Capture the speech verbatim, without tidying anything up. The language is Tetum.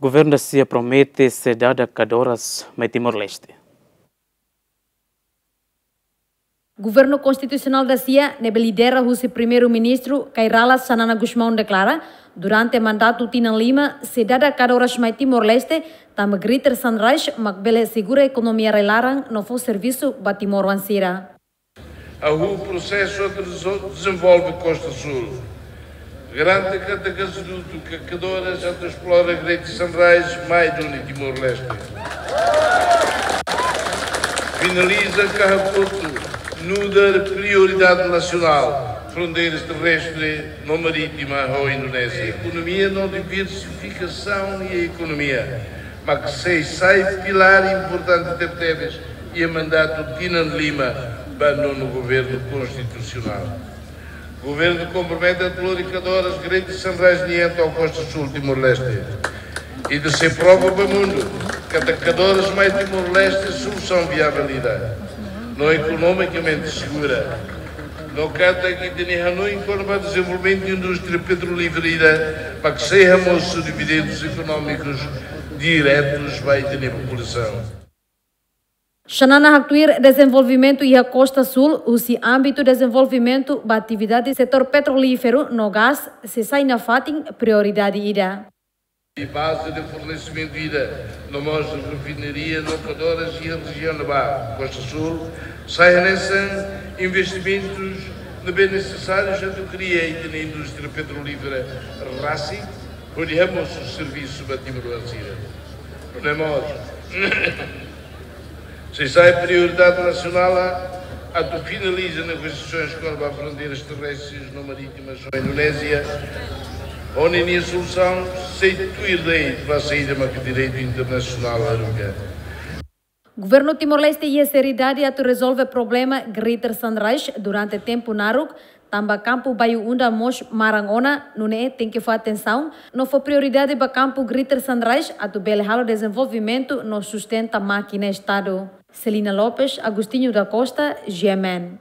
Governu Dacia promete sei dada kadoras mai Timor-Leste. Governu Konstitusionál Dacia, ne'ebé lidera husi Primeiru-Ministru Kay Rala Xanana Gusmão deklara, durante mandatu tinan lima, sei dada kadoras mai Timor-Leste, tanba Greater Sunrise mak bele asegura ekonomia rai-laran no fó servisu ba timoroan sira. Hahú prosesu atu dezo-, dezenvolve Kosta Súl. Garante katak hadudu kadoras atu esplora Greater Sunrise mai duni Timor-Leste. Finaliza ka hakotu nu'udar prioridade nasionál fronteiras terrestre no marítima ho Indonézia. Ekonomia no diversifikasaun iha ekonomia, mak sei sai pilár importante tebetebes iha mandatu tinan lima ba nonu governu konstitusionál. Governu kompromete atu lori kadoras Greater Sunrise nian to'o Kosta Súl Timor-Leste. Ita sei prova ba mundu katak kadoras mai Timor-Leste solusaun viavel ida no ekonomikamente segura. No katak ita-nia hanoin kona-ba dezenvolvimentu indústria petrolífera ida mak sei hamosu dividendus ekonómikus diretus ba ita-nia populasaun. Xanana haktuir dezenvolvimentu iha Kosta Súl, husi ámbitu dezenvolvimentu ba atividade setór petrolíferu no gás, sei sai nafatin prioridade ida. Iha baze de fornesimentu ida, no mós refinaria no kadoras iha rejiaun ne'ebá, Kosta Súl, sai hanesan investimentus ne'ebé nesesárius atu kria ita-nia indústria petrolífera rasik, hodi hamosu servisu ba timoroan sira. No mós sei sai prioridade nasionál atu finaliza negosiasoens kona-ba fronteiras terrestres no marítimas ho Indonézia, hodi nia solusaun sei tuir lei, ba saida maka direitu internasionál haruka. Governu Timor-Leste iha seriedade atu rezolve problema Greater Sunrise durante tempu naruk, tanba kampu Bayu-Undan mós maran ona, nune'e tenke fó atensaun no fó prioridade ba kampu Greater Sunrise atu bele halo dezenvolvimentu no sustenta mákina Estadu. Celina Lopes, Agostinho da Costa, G M N.